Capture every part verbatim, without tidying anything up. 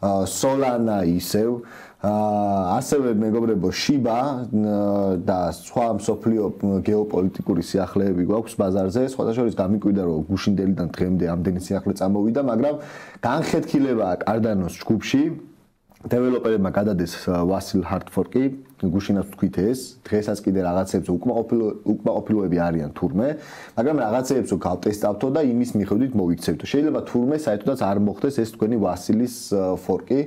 Solana ისევ ასევე მეგობრებო Shiba და სხვა მსოფლიო გეოპოლიტიკური სიახლეები გვაქვს ბაზარზე, სხვათა შორის გამიკვირდა რომ გუშინდელიდან დღემდე ამდენი სიახლე წამოვიდა, მაგრამ განხეთქილებაა Cardano-ს ჯგუფში. Developer-ებმა გადადეს Vasil Hard-fork-ი, გუშინაც თქვით ეს, დღესაც კიდე რაღაცებს უკმაყოფილოები არიან თურმე, მაგრამ რაღაცებს გავტესტავთო და იმის მიხედვით მოვიქცევთო. შეიძლება თურმე საერთოდაც არ მოხდეს ეს თქვენი Vasil-ის fork-ი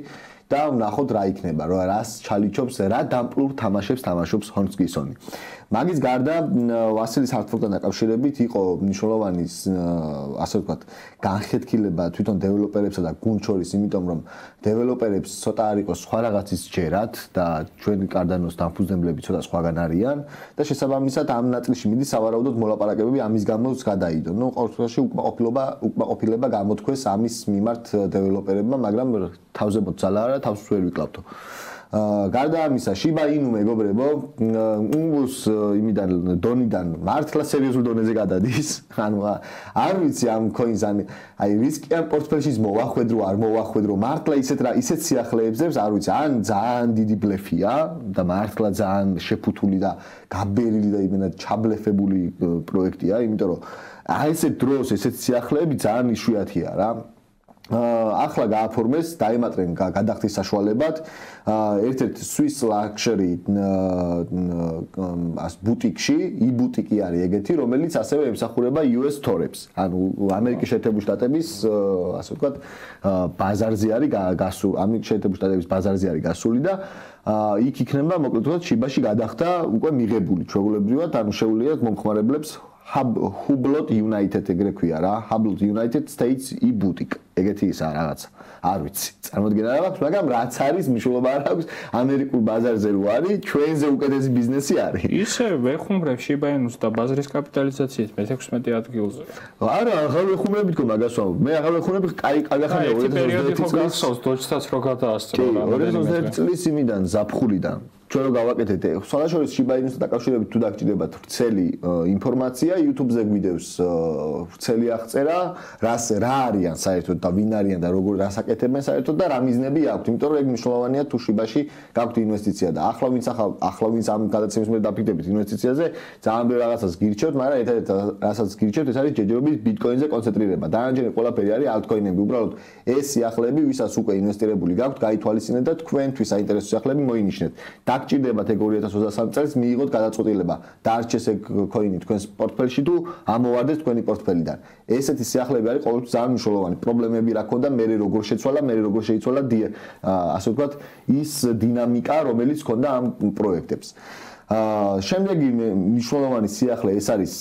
და ვნახოთ რა იქნება, რა რას ჩალიჩობს, რა დამპლურ თამაშებს თამაშობს Hornsgissoni. მაგის გარდა Vasil-ის Hard-fork-თან დაკავშირებით იყო მნიშვნელოვანი ასე ვთქვათ, განხეთქილება თვითონ დეველოპერებსა და გუნდ შორის, იმიტომ რომ დეველოპერებს ცოტა არ იყოს სხვა რაღაცის ჯერათ და ჩვენი Cardano-ს დამფუძნებლები ცოტა სხვაგან არიან და შესაბამისად ამ ნაწილში მიდის სავარაუდოდ მოლაპარაკებები ამის გამოც გადაიდო. ნუ ყოველ შემთხვევაში უკმაყოფილება უკმაყოფილება გამოთქვეს ამის მიმართ დეველოპერებმა, მაგრამ თავზე მოძალა არა, თავს ვერ ვიკლავთო. გარდა ამისა, Shiba Inu მეგობრებო, უნგუს იმიდან დონიდან მართლა სერიოზულ დონეზე გადადის. ანუ არ ვიცი ამ coins ან აი რისკიან პორტფელში მოვახვედრო, არ მოვახვედრო, მართლა ისეთ რა ისეთ სიახლეებს არ ვიცი, ან ძალიან დიდი ბლეფია და მართლა ძალიან შეფუთული და გაბერილი და იმენა ჩაბლეფებული პროექტია, იმიტომ რომ აი ესეთ დროს ესეთ სიახლეები ძალიან იშვიათია რა. ახლა გააფორმეს, დაემატრენ გადახდის საშუალებად ერთ-ერთ Swiss luxury ას ბუტიკში, e-ბუტიკი არის ეგეთი, რომელიც ასევე ემსახურება U S Store-ებს. ანუ ამერიკის შეერთებული შტატების, ასე ვთქვათ, ბაზარზე არის გასული, ამერიკის შეერთებული შტატების ბაზარზე არის გასული და იქ იქნება, მოკლედ ვთქვათ, Shiba-ში გადახდა უკვე მიღებული ჩვეულებრივად, ანუ შეუძლიათ მომხმარებლებს Hublot United ეგრე ქვია რა, Hublot United States e-boutique. ეგეთი ისა რაღაცა. არ ვიცი. წარმოდგენა არ აქვს, მაგრამ რაც არის, მნიშვნელობა არ აქვს, ამერიკულ ბაზარზე რო არის, ჩვენზე უკეთესი ბიზნესი არის. ისე ვეხუმრებ Shiba Inu-ს და ბაზრის კაპიტალიზაციით მეთექვსმეტე ადგილზე. არა, აღარ ვეხუმრებით თქო მაგას ვამბობ. მე აღარ ვეხუმრები, კაი კაგახანია ორი ათას ოცდაერთი წლის დოჯსაც რო გადაასწრო რა. ორი ათას ოცდაერთი წლის იმიდან ზაფხულიდან ჩვენ რო გავაკეთეთ, სხვადასხვა Shiba Inu-სთან დაკავშირებით თუ დაგჭირდებათ ვრცელი ინფორმაცია, YouTube-ზე გვიდევს ვრცელი აღწერა, რას რა არიან საერთოდ და ვინ არიან და როგორ რას აკეთებენ საერთოდ და რა მიზნები აქვთ, იმიტომ რომ ეგ მნიშვნელოვანია თუ Shiba-ში გაქვთ ინვესტიცია და ახლა ვინც ახლა ახლა ვინც ამ გადაცემის მე დაფიქრდებით ინვესტიციაზე, ძალიან ბევრ რაღაცას გირჩევთ, მაგრამ ერთადერთი რასაც გირჩევთ, ეს არის ჯერჯერობით Bitcoin-ზე კონცენტრირება. დანარჩენი ყველაფერი არის altcoin-ები, უბრალოდ ეს სიახლეები, ვისაც უკვე ინვესტირებული გაქვთ, გაითვალისწინეთ და თქვენთვის საინტერესო სიახლეები მოინიშნეთ. დაგჭირდებათ ეგ ორი ათას ოცდასამი წელს მიიღოთ გადაწყვეტილება. დარჩეს ეგ coin-ი თქვენს პორტფელში თუ ამოვარდეს თქვენი პორტფელიდან. ესეთი სიახლეები არის ყოველთვის ძალიან მნიშვნელოვანი. პრობლემები რა ქონდა, მე როგორ შეცვალა, მე როგორ შეიცვალა ასე ვთქვათ, ის დინამიკა, რომელიც ქონდა ამ პროექტებს. აა შემდეგი მნიშვნელოვანი სიახლე ეს არის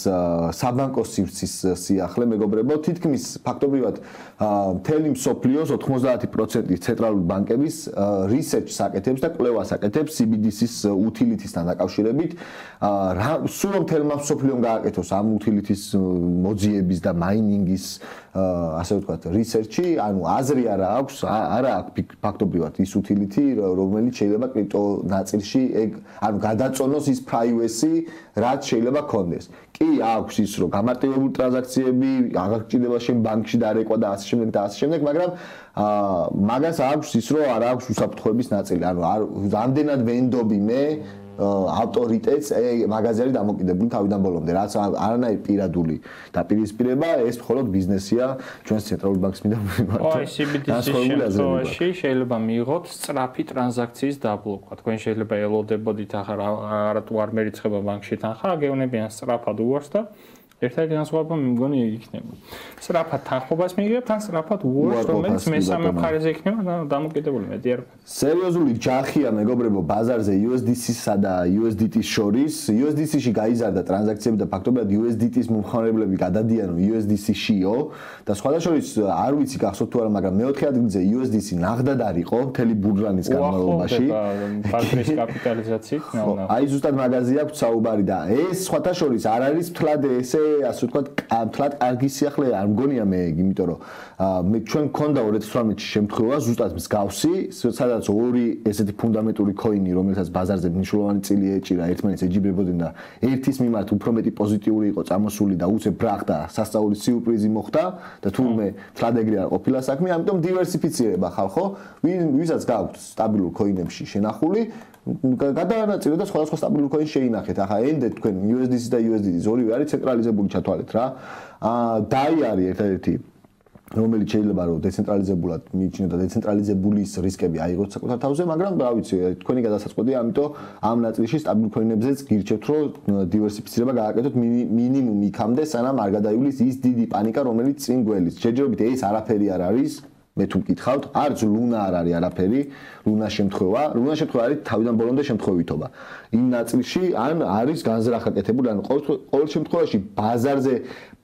საბანკო სივრცის სიახლე, მეგობრებო, თითქმის ფაქტობრივად მთელი მსოფლიოს ოთხმოცდაათი პროცენტი ცენტრალური ბანკების research-ს აკეთებს და კვლევას აკეთებს C B D C-ის utility-სთან დაკავშირებით. აა სულ მთელმა მსოფლიომ გააკეთოს ამ utility-ის მოძიების და mining-ის ასე ვთქვათ, research-ი, ანუ აზრი არა აქვს, არა აქვს ფაქტობრივად ის utility, რომელიც შეიძლება კრიპტო ნაწილში ეგ ანუ გადაწონოს ის privacy, რაც შეიძლება კონდეს. კი აქვს ის რომ გამარტივებული ტრანზაქციები, აღარ გჭირდება შენ ბანკში დარეკვა და ასე შემდეგ და ასე შემდეგ, მაგრამ აა მაგას აქვს ის რომ არ აქვს უსაფრთხოების ნაწილი. ანუ რამდენად ვენდობი მე ავტორიტეტს მაგაზე არის დამოკიდებული თავიდან ბოლომდე, რაც არანაირი პირადული დაპირისპირება, ეს მხოლოდ ბიზნესია ჩვენს ცენტრალურ ბანკს მინდა ვიმართო. აი C B D C-ის შემთხვევაში შეიძლება მიიღოთ სწრაფი ტრანზაქციის დაბლოკვა. თქვენ შეიძლება ელოდებოდით ახლა არათუ არ მერიცხება ბანკში თანხა, გეუნებიან სწრაფად უარს და ერთადერთი განსხვავება მე მგონი იქნება. სწრაფად თანხმობას მიიღებთ, ან სწრაფად უარს, რომელიც მესამე მხარეზე იქნება დამოკიდებული მეტი არ. სერიოზული ჯახია მეგობრებო ბაზარზე U S D C-სა და U S D T-ის შორის. U S D C-ში გაიზარდა ტრანზაქციები და ფაქტობრივად U S D T-ის მომხმარებლები გადადიან U S D C-შიო და სხვადასხვის არ ვიცი გახსოვთ თუ არა, მაგრამ მეოთხე ადგილზე U S D C ნახდად არისო მთელი ბურჟანის განმავლობაში. ბაზრის კაპიტალიზაციით. აი ზუსტად მაგაზე აქვს საუბარი და ეს სხვადასხვის არ არის თლად ესე ასე ვთქვათ, მთლად კარგი სიახლე არ მგონია მე, იმიტომ რომ მე ჩვენ გქონდა ორი ათას ოცდაოთხში შემთხვევა ზუსტად მსგავსი, სადაც ორი ესეთი ფუნდამენტური coin-ი, რომელსაც ბაზარზე მნიშვნელოვანი წილი ეჭირა, ერთმანეთს ეჯიბრებოდნენ და ერთის მიმართ უფრო მეტი პოზიტიური იყო წამოსული და უცებ ბრახდა, სასწაულის სიურპრიზი მოხდა და თურმე მთლად ეგრე არ ყოფილა საქმე, ამიტომ დივერსიფიცირება ხალხო, ვისაც გაქვთ სტაბილურ coin-ებში შენახული გადაანაწილოთ და სხვადასხვა სტაბილურ coin შეინახეთ. ახლა ენდე თქვენ იუ ეს დი სი და იუ ეს დი დი ორივე არის ცენტრალიზებული ჩათვალეთ რა. აა დაი არის ერთადერთი რომელიც შეიძლება რომ დეცენტრალიზებულად მიიჩნიოთ და დეცენტრალიზებულის რისკები აიღოთ საკუთარ თავზე, მაგრამ რა ვიცი, თქვენი გადასაწყვეტია, ამიტომ ამ ნაწილში სტაბილურ coin-ებზეც გირჩევთ, რომ დივერსიფიცირება გააკეთოთ მინიმუმ იქამდე, სანამ არ გადაივლის ის დიდი პანიკა, რომელიც წინ გველის. შეჯერებით ეს არაფერი არ არის. მე თუ მკითხავთ, არც ლუნა არ არის არაფერი, ლუნა შემთხვევა, ლუნა შემთხვევა არის თავიდან ბოლომდე შემთხვევითობა. იმ ნაწილში ან არის განზრახ აკეთებული, ან ყოველ შემთხვევაში ბაზარზე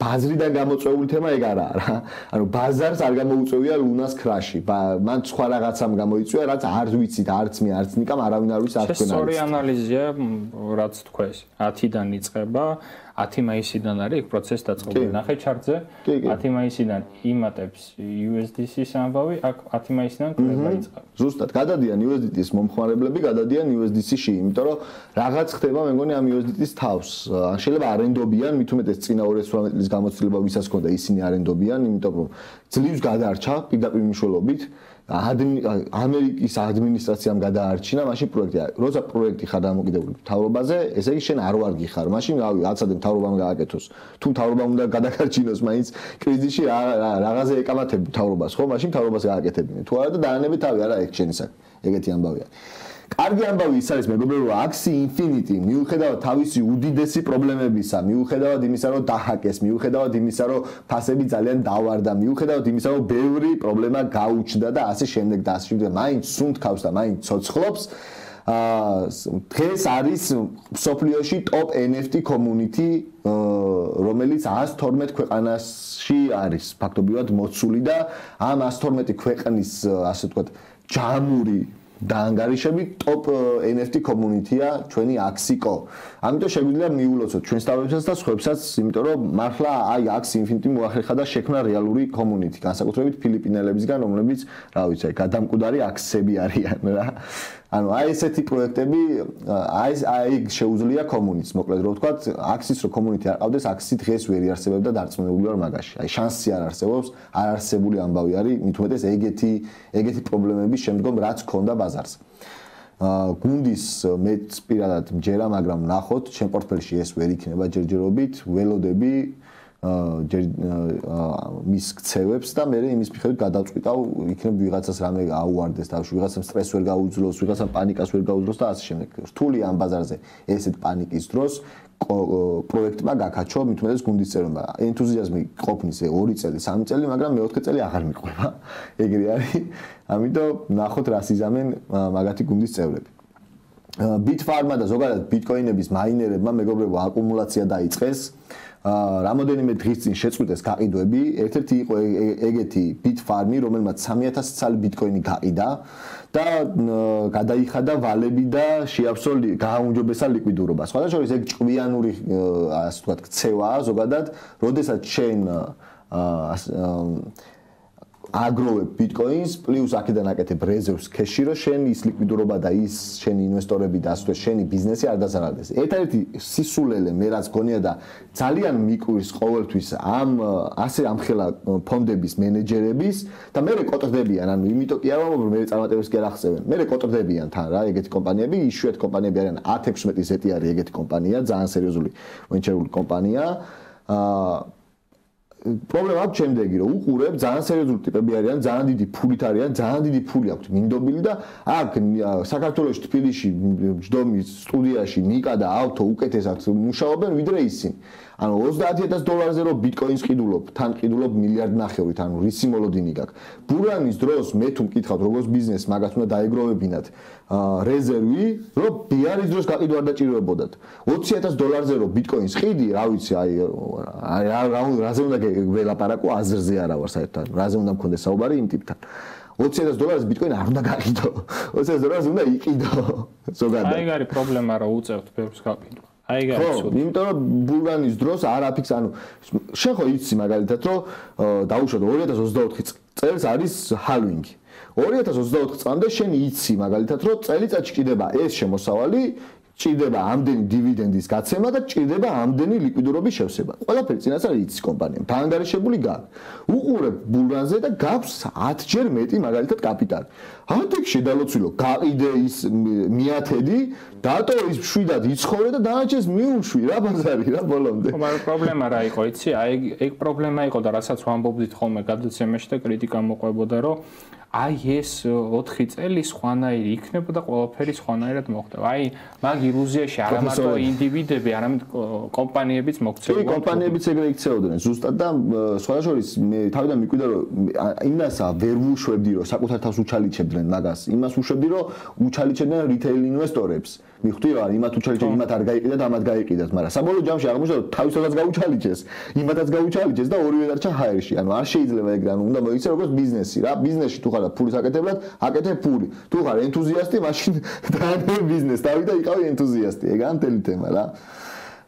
ბაზრიდან გამოწვეული თემა ეგ არაა რა. ანუ ბაზარს არ გამოუწევია ლუნას კრაში. მან სხვა რაღაცამ გამოიწვია, რაც არ ვიცით, არც მე, არც ნიკამ არავინ არ ვიცი, არც თქვენ არ ვიცით. სწორი ანალიზია, რაც თქვეს, ათიდან იწყება, ათი მაისიდან არის ეგ პროცესი დაწყებული. ნახე ჩარტზე, ათი მაისიდან იმატებს იუ ეს დი სი-ის ამბავი, აქ ათი მაისიდან კვლევა იწყება. ზუსტად, გადადიან იუ ეს დი დი-ის მომხმარებლები, გადადიან იუ ეს დი სი-ში, იმიტომ რომ რაღაც ხდება, მე მგონი ამ იუ ეს დი დი-ის თავს. ან შეიძლება არენდობიან, მით უმეტეს წინა ორი ათას ოცდაოთხ წლის გამოცდილება ვისაც ჰქონდა, ისინი არენდობიან, იმიტომ რომ ძლივს გადარჩა პირდაპირ მნიშვნელობით. ამერიკის ადმინისტრაციამ გადაარჩინა მაშინ პროექტი. როცა პროექტი ხარ დამოკიდებული მთავრობაზე, ესე იგი შენ არ ვარ გიხარ. მაშინ რავი, აცადე მთავრობამ გააკეთოს. თუ მთავრობამ უნდა გადაგარჩინოს, მაინც კრიზისში რაღაცე ეკამათები მთავრობას, ხო? მაშინ მთავრობას გააკეთებინე. თუ არა და დაანებეთ თავი, არა ეგ შენი საქმე. ეგეთი ამბავია. კარგი ამბავი ის არის მეგობრებო, რომ Axie Infinity მიუხედავად თავისი უდიდესი პრობლემებისა, მიუხედავად იმისა, რომ დაჰაკეს, მიუხედავად იმისა, რომ ფასები ძალიან დავარდა, მიუხედავად იმისა, რომ ბევრი პრობლემა გაუჩნდა და ასე შემდეგ და ასე შემდეგ, მაინც სუნთქავს და მაინც ცოცხლობს. აა დღეს არის მსოფლიოში top ენ ეფ ტი community, რომელიც ათას თორმეტ ქვეყანაში არის ფაქტობრივად მოცული და ამ ათას თორმეტი ქვეყნის, ასე ვთქვათ, ჯამური და ანგარიშები top ენ ეფ ტი community-ა ჩვენი Axie.co. ამიტომ შეგვიძლია მიულოცოთ ჩვენს თავებსაც და სხვებსაც, იმიტომ რომ მართლა აი Axie Infinity მოახერხა და შექმნა რეალური community, განსაკუთრებით ფილიპინელებისგან, რომლებიც, რა ვიცი, გადამკვდარი Axie-ები არიან რა. ანუ აი ესეთი პროექტები, აი აი შეუძლია community-ს, მოკლედ რო ვთქვათ, Axie-ს რო community არ ყავდეს, Axie დღეს ვერ იარსებებდა დარწმუნებული ვარ მაგაში. აი შანსი არ არსებობს, არ არსებული ამბავი არის, მით უმეტეს ეგეთი ეგეთი პრობლემების შემდგომ რაც ქონდა ბაზარს. აა გუნდის მეც პირადად მჯერა, მაგრამ ნახოთ, ჩემ პორტფელში ეს ვერ იქნება ჯერჯერობით, ველოდები აა მის ქცევებს და მე იმის მიხედვით გადავწყვიტავ, იქნებ ვიღაცას რამე აუვარდეს თავში, ვიღაცამ სტრესს ვერ გაუძლოს, ვიღაცამ პანიკას ვერ გაუძლოს და ასე შემდეგ. რთული ამ ბაზარზე ესეთ პანიკის დროს პროექტმა გაკაჩო, მით უმეტეს გუნდის წევრობა. ენთუზიაზმი ყოფნის ორი წელი, სამი წელი, მაგრამ მეოთხე წელი აღარ მიყვება. ეგრე არის. ამიტომ ნახოთ რა სიზამენ მაგათი გუნდის წევრები. Bitfarm და ზოგადად ბიტკოინების მაინერებმა მეგობრებო აკუმულაცია დაიწყეს. აა რამოდენიმე დღის წინ შეწყვიტეს გაყიდვები. ერთ-ერთი იყო ეგეთი Bitfarm, რომელმაც სამი ათასი ცალი ბიტკოინი გაყიდა და გადაიხადა ვალები და შეავსო გააუმჯობესა ლიკვიდურობა. სხვათა შორის ეგ ჭკვიანური ასე ვთქვათ ქცევაა ზოგადად, როდესაც შენ აა აგროვებ ბიტკოინს, პლუს აქედან აკეთებ რეზერვს ქეში, რომ შენ ის ლიკვიდურობა და ის შენი ინვესტორები და ასე შენი ბიზნესი არ დაზარალდეს. ერთ-ერთი სისულელე მე რაც გონია და ძალიან მიკვირს ყოველთვის ამ ასე ამხელა ფონდების მენეჯერების და მე რეკოტრდებიან, ანუ იმიტომ კი არ ვამბობ, რომ მე წარმატებებს კი არ ახსევენ. მე რეკოტრდებიან თან რა, ეგეთი კომპანიები, იშვიათ კომპანიები არიან ათი ექვსმეტი ზეტი არის ეგეთი კომპანია, ძალიან სერიოზული ვენჩერული კომპანია. აა პრობლემა აქვს შემდეგი, რომ უყურებ ძალიან სერიოზული ტიპები არიან, ძალიან დიდი ფულით არიან, ძალიან დიდი ფული აქვთ მინდობილი და აქ საქართველოში თბილისში ჯდომის სტუდიაში ნიკა და ავთო უკეთესად მუშაობენ ვიდრე ისინი. ანუ ოცდაათი ათასი დოლარზე რო ბიტკოინს ყიდულობ, თან ყიდულობ მილიარდ ნახევრით, ანუ რისი მოლოდინი გაქვს. ბურანის დროს მე თუ მკითხავთ როგორც ბიზნეს მაგათ უნდა დაეგროვებინათ რეზერვი, რომ ბიარის დროს გაყიდვა არ დაჭიროებოდათ. ოცი ათასი დოლარზე რო ბიტკოინს ყიდი, რა ვიცი, აი რა რაზე უნდა ველაპარაკო, აზრზე არა ვარ საერთოდ. რაზე უნდა მქონდეს საუბარი იმ ტიპთან. ოცი ათასი დოლარზე ბიტკოინი არ უნდა გაყიდო. ოცი ათასი დოლარზე უნდა იყიდო. ზოგადად. აი, არის პრობლემა, რომ უწევთ ბევრს გაყიდვა. აი გაიცოდ. იმიტომ რომ ბულგანის დროს არ აფიქს, ანუ შენ ხო იცი მაგალითად რომ დაუშვათ ორი ათას ოცდაოთხი წელს არის ჰალვინგი. ორი ათას ოცდაოთხი წლამდე შენ იცი მაგალითად რომ წელიწადში ჭირდება ეს შემოსავალი ჭირდება ამდენი დივიდენდის გაცემა და ჭირდება ამდენი ლიკვიდურობის შევსება. ყველაფერი წინასწარ იცის კომპანიამ. დაანგარიშებული გაქვს. უყურებ ბულგანზე და გაქვს ათჯერ მეტი მაგალითად კაპიტალი. ათი შედალოცვილო, გაყიდე ის მეათედი, დატო ის შვიდად იცხოვრე და დანარჩენს მიუშვი რა ბაზარი რა ბოლომდე. მაგრამ პრობლემა რა იყო, იცი? აი ეგ პრობლემა იყო და რასაც ვამბობდით ხოლმე გადაცემაში და კრიტიკა მოყვებოდა, რომ აი ეს ოთხი წელი სხვანაირი იქნება და ყველაფერი სხვანაირად მოხდება. აი მაგ ილუზიაში არა მარტო ინდივიდები, არამედ კომპანიებიც მოქცეულობდნენ. კი, კომპანიებიც ეგრე იქცეოდნენ ზუსტად და სხვადასხვა მე თავიდან მიკვირდა რომ იმასა ვერ ვუშვებდი რომ საკუთარ თავს უჩალიჩებდნენ მაგას. იმას უშვებდი რომ უჩალიჩებდნენ რიტეილ ინვესტორებს. მიხვდი რა, იმათ უჩალიჩებდნენ, იმათ არ გაიყიდა და ამათ გაიყიდათ, მაგრამ საბოლოო ჯამში აღმოჩნდა რომ თავისადაც გაუჩალიჩეს, იმათაც გაუჩალიჩეს და ორივე დარჩა ჰაერში. ანუ არ შეიძლება ეგრე, ანუ უნდა მოიქცე როგორც ბიზნესი რა. ბიზნესში თუ ხარ ფულის აკეთებლად, აკეთებ ფული. თუ ხარ ენთუზიასტი, მაშინ დაანებ ბიზნესს. დავიდა იყავი ენთუზიასტი, ეგაა მთელი თემა რა.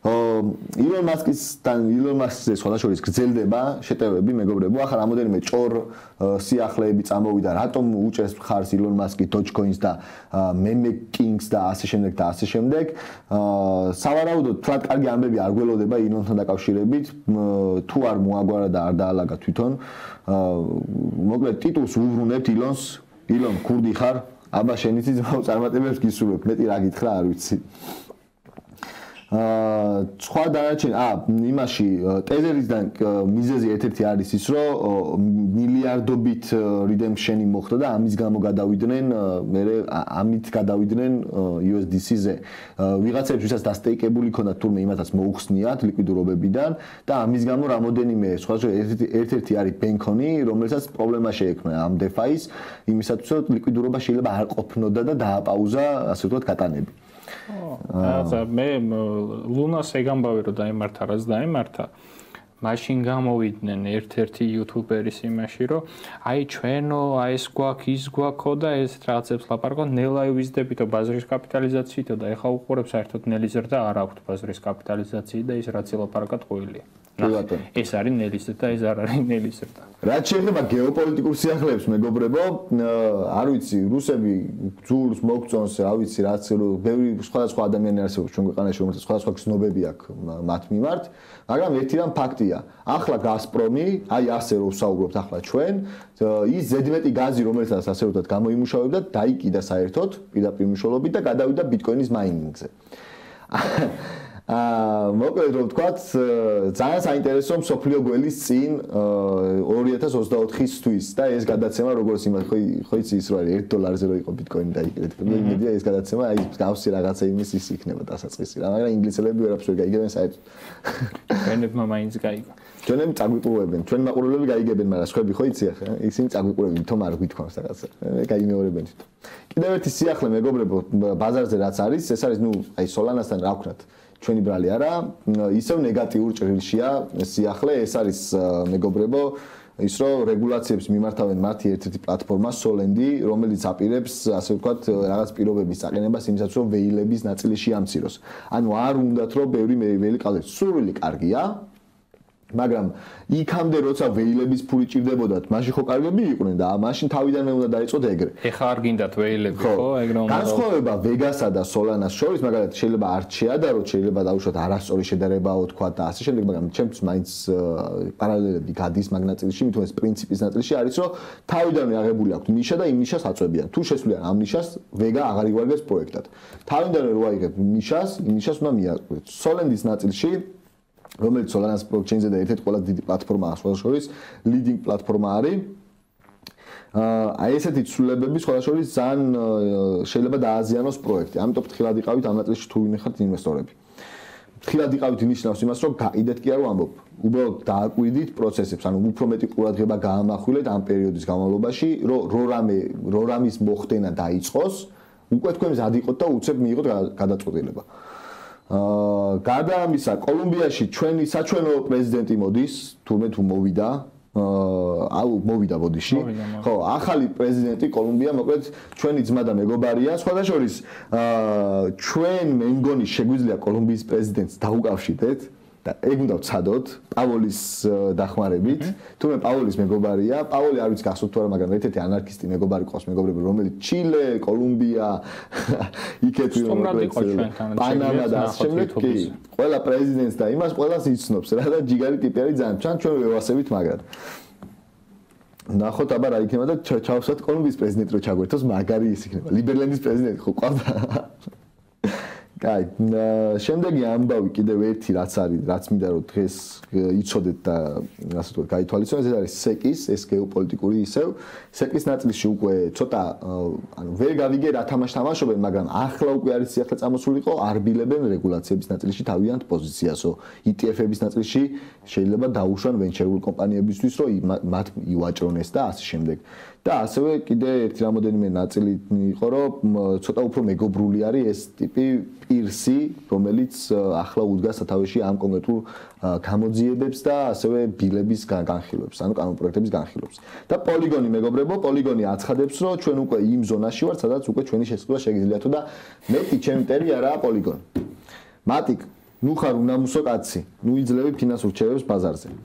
ილონ მასკისთან ილონ მასკზე სხვადასხვა გრძელდება შეტევები მეგობრებო. ახლა რამოდენიმე ჭორ სიახლეები წამოვიდა, რატომ უჭერს ხარს ილონ მასკი Dogecoin-ს და Meme Kings და ასე შემდეგ და ასე შემდეგ. სავარაუდოდ თლად კარგი ამბები არ გველოდება ილონთან დაკავშირებით, თუ არ მოაგვარა და არ დაალაგა თვითონ. მოკლედ ტიტულს უბრუნებთ ილონს, ილონ ქურდი ხარ? აბა შენიცი ძმაო წარმატებებს გისურვებ, მეტი რა გითხრა არ ვიცი. აა სხვა დანარჩენ აა იმაში ტეზერისგან მიზეზი ერთ-ერთი არის ის რომ მილიარდობით redemption-ი მოხდა და ამის გამო გადავიდნენ მე ამით გადავიდნენ იუ ეს დი სი-ზე ვიღაცებს ვისაც დასტეიკებული ქონდათ თურმე იმათაც მოუხსნიათ ლიკვიდურობებიდან და ამის გამო რამოდენიმე სხვა ერთ-ერთი არის ბენქონი რომელსაც პრობლემა შეექმნა ამ DeFi-ს იმისათვის რომ ლიკვიდურობა შეიძლება არ ყოფნოდა და დააპაუზა ასე ვთქვათ გატანები აა მე ლუნას ეგამბავი რომ დაემართა რაც დაემართა მაშინ გამოვიდნენ ერთ-ერთი იუთუბერის იმაში რომ აი ჩვენო აი ეს გვაქვს ის გვაქვს და ეს რაღაცებს ლაპარაკობ ნელა ვიზდებითო ბაზრის კაპიტალიზაციითო და ეხა უყურებ საერთოდ ნელი ზრდა არ აქვს ბაზრის კაპიტალიზაციით და ის რაც ლაპარაკად ყვილი ეს არის ნელის და ეს არ არის ნელის ზრდა რაც შეიძლება გეოპოლიტიკურ სიახლეებს მეგობრებო არ ვიცი რუსები ძულს მოგწონს რა ვიცი რაც ბევრი სხვადასხვა ადამიანი არსებობს ჩვენ ქვეყანაში რომელსაც სხვადასხვა გზნობები აქვს მათ მიმართ მაგრამ ერთი რამ ფაქტია ახლა გაზპრომი აი ასე რომ ვსაუბრობთ ახლა ჩვენ ის ზედმეტი გაზი რომელსაც ასე ვთქვათ გამოიმუშავებდა დაიკიდა საერთოდ პირდაპირ მნიშვნელობით და გადავიდა ბიტკოინის მაინინგზე აა მოკლედ რომ ვთქვათ ძალიან საინტერესო მსოფლიო გველის წინ ორი ათას ოცდაოთხისთვის და ეს გადაცემა როგორც იმას ხო ხო იცი ის რო არის ერთ დოლარზე რო იყო ბიტკოინი დაიკიდეთ და იმედია ეს გადაცემა აი გავსი რაღაცა იმის ის იქნება დასაწყისი რა მაგრამ ინგლისელები ვერაფერს ვერ გაიგებენ საერთოდ ჩვენებმა მაინც გაიგო ჩვენები წაგვიყურებენ ჩვენ მაყურებლები გაიგებენ მაგრამ სხვები ხო იცი ახლა ისინი წაგვიყურებენ თომ არ გვითქვამს რაღაცა გაიმეორებენ თვითონ კიდევ ერთი სიახლე მეგობრებო ბაზარზე რაც არის ეს არის ნუ აი სოლანასთან რა ვქნათ ჩვენი ბრალი არა, ისევ ნეგატიურ ჭრილშია სიახლე, ეს არის მეგობრებო, ის რომ რეგულაციებს მიმართავენ მათი ერთ-ერთი პლატფორმა Solendi, რომელიც აპირებს, ასე ვთქვათ, რაღაც პირობების წაყენებას იმისათვის, რომ ვეილების ნაწილი შეამციროს. ანუ არ უნდათ, რომ ბევრი ვეილი ყავდეს. სურვილი კარგია, მაგრამ იქამდე როცა ვეილების ფული ჭირდებოდათ, მაშინ ხო კარგები იყვნენ და მაშინ თავიდანვე უნდა დაიწყოთ ეგრე. ეხა არ გინდათ ვეილები, ხო, ეგრე უნდა. განსხვავება Vegas-ა და Solana-ს შორის, მაგალითად, შეიძლება არ შეადაროთ, შეიძლება დაუშვათ არასწორი შედარებაო თქვა და ასე შემდეგ, მაგრამ ჩემთვის მაინც პარალელები გადის მაგ ნაწილში, მithom ეს პრინციპის ნაწილში არის, რომ თავიდანვე აღებული აქვს ნიშა და იმ ნიშას აწვევიან. თუ შესვლიან ამ ნიშას, Vega აღარ იგوارგებს პროექტად. თავიდანვე რო აიღებ ნიშას, იმ ნიშას უნდა მიაყრეთ. Solendi-ის ნაწილში რომელიც Solana-ს blockchain-ზე და ერთ-ერთი ყველაზე დიდი პლატფორმაა სხვადასხვის leading პლატფორმა არის. აი ესეთი ცვლილებები სხვადასხვის ძალიან შეიძლება დააზიანოს პროექტი. ამიტომ ფრთხილად იყავით ამ ნაწილში თუ ვინმე ხართ ინვესტორები. ფრთხილად იყავით ნიშნავს იმას, რომ გაიდეთ კი არ ვამბობ. უბრალოდ დააკვირდით პროცესებს, ანუ უფრო მეტი ყურადღება გაამახვილეთ ამ პერიოდის განმავლობაში, რომ რორამე რორამის მოხდენა დაიწყოს, უკვე თქვენ მზად იყოთ და უცებ მიიღოთ გადაწყვეტილება. აა გარდა ამისა, კოლუმბიაში ჩვენი საჩვენო პრეზიდენტი მოდის, თურმე თუ მოვიდა, აუ მოვიდა ბოდიში. ხო, ახალი პრეზიდენტი კოლუმბია, მოკლედ ჩვენი ძმა და მეგობარია. სხვადასხვის ჩვენ მე მგონი შეგვიძლია კოლუმბიის პრეზიდენტს დაუკავშირდეთ. და ეგ უნდა ვცადოთ პაოლის დახმარებით. თუმე პაოლის მეგობარია, პაოლი არ ვიცი გახსოვთ თუ არა, მაგრამ ერთ-ერთი ანარქისტი მეგობარი ყავს მეგობრები, რომელიც ჩილე, კოლუმბია, იქეთ პანამა და ასე შემდეგ კი, ყველა პრეზიდენტს და იმას ყველას იცნობს რა და ჯიგარი ტიპი არის ძალიან. ჩვენ ჩვენ ვევასებით მაგრამ ნახოთ აბა რა იქნება და ჩავსვათ კოლუმბიის პრეზიდენტი რო ჩაგვერთოს, მაგარი ის იქნება. ლიბერლენდის პრეზიდენტი ხო ყავდა. კაი, შემდეგი ამბავი კიდევ ერთი რაც არის, რაც მინდა რომ დღეს იცოდეთ და ასე ვთქვათ, გაითვალისწინოთ, ეს არის სეკის, ეს გეოპოლიტიკური ისევ. სეკის ნაწილში უკვე ცოტა ანუ ვერ გავიგე რა თამაშს თამაშობენ, მაგრამ ახლა უკვე არის სიახლე წამოსულიყო, არბილებენ რეგულაციების ნაწილში თავიანთ პოზიციასო. ი ტი ეფ-ების ნაწილში შეიძლება დაუშვან ვენჩერულ კომპანიებისთვის, რომ მათ ივაჭრონ ეს და ასე შემდეგ. და ასევე კიდე ერთი რამოდენიმე ნაწილი იყო, რომ ცოტა უფრო მეგობრული არის ეს ტიპი პირსი, რომელიც ახლა უდგას სათავეში ამ კონკრეტულ გამოძიებებს და ასევე ბილების განხილვებს, ანუ კანონპროექტების განხილვებს. და პოლიგონი მეგობრებო, პოლიგონი აცხადებს, რომ ჩვენ უკვე იმ ზონაში ვართ, სადაც უკვე ჩვენი შესყიდვა შეგიძლიათო და მეტი ჩემი ტერი არაა პოლიგონი. მატიკ, ნუ ხარ უნამუსო კაცი, ნუ იძლევი ფინანსურ რჩევებს ბაზარზე.